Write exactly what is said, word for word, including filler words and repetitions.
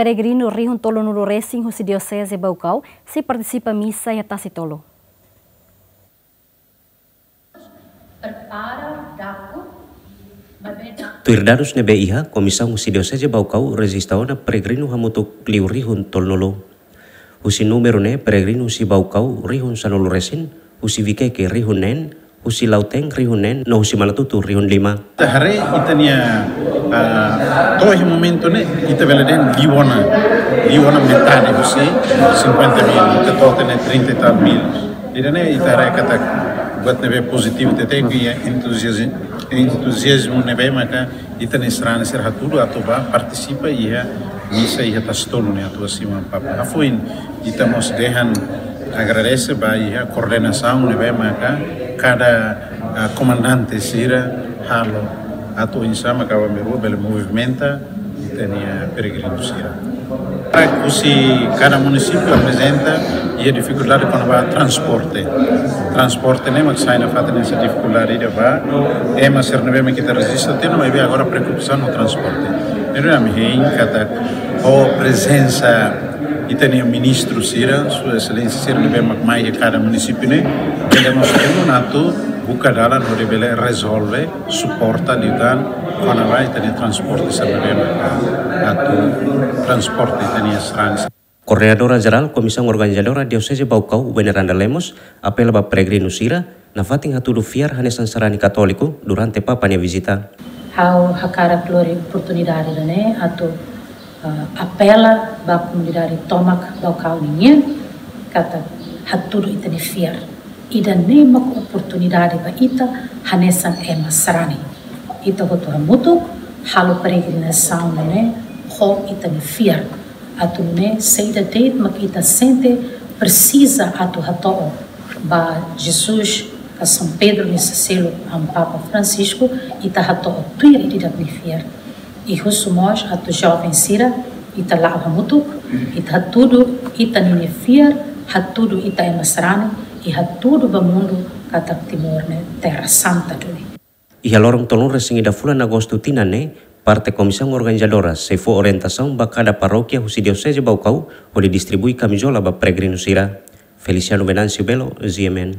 Peregrinu rihun tolunulu resin husi Dioseze Baucau sei partisipa misa iha Tasi Tolu. Tuir dadus ne'ebé iha, komisaun husi Dioseze Baucau rejista ona peregrinu hamutuk liu rihun tolunulu. Husi númeru ne'e, peregrinu husi Baucau rihun sanulu resin, husi Viqueque rihun neen, husi Lautém rihun neen, no husi Manatuto rihun lima. Ita haree ita-nia, ah, to'o iha momentu ne'e, ita bele dehan liu ona, liu ona metade husi cinquenta mil, ita to'o tiha ne'e trinta e tal mil. Ida-ne'e ita haree katak buat ne'ebé pozitivu tebes, iha entuzias-, entuziazmu ne'ebé maka ita-nia sarani sira hatudu atu bá partisipa iha misa iha Tasi Tolu ne'e atu simu Amu Papa. Hafoin ita mós dehan agradese ba iha koordenasaun ne'ebé maka kada, ah, komandante sira halo atu oinsá mak aban-bainrua bele movimenta ita-nia peregrinu sira. Husi kada munisípiu aprezenta iha difikuldade kona-ba transporte. Transporte ne'e mak sai nafatin hanesan difikuldade ida ba ema sira ne'ebé mak ita rejista tiha ona, maibé agora preokupasaun ho transporte. Ne'e duni ami hein katak ho prezensa ita-nia ministru sira, Sua Exelénsia sira ne'ebé mak mai iha kada munisípiu ne'e, bele mós temu atu buka dalan hodi bele rezolve, suporta liután kona-ba ita-nia transporte sira ne'ebé mak atu transporta ita-nia sarani. Koordenadora Jerál Komisaun Organizadora Dioseze Baucau, Veneranda Lemos, apela ba peregrinu sira, nafatin hatudu fiar hanesan sarani katóliku durante Papa nia vizita. Ha'u hakarak lori oportunidade ida-ne'e atu, eh, apela ba komunidade tomak Baucau ninian, katak hatudu ita-nia fiar. Ida-ne'e mak oportunidade ba ita hanesan ema sarani. Ita hotu hamutuk halo peregrinasaun ne'e ho ita-nia fiar. Atu nune'e saida de'it mak ita sente presiza atu hato'o ba Jesus ka São Pedro nia selo, Amu Papa Francisco, ita hato'o tuir ida-idak nia fiar. I husu mós atu joven sira, ita la'o hamutuk, ita hatudu ita-nia fiar, hatudu ita ema sarani, i hatudu ba mundu katak Timor ne'e terra santa duni. Iha loron tolunulu resin ida fulan Agostu tinan ne'e, parte Komisaun Organizadora sei fó orientasaun ba kada parókia husi Dioseze Baucau hodi distribui kamizola ba peregrinu sira. Feliciano Venâncio Belo, G M N.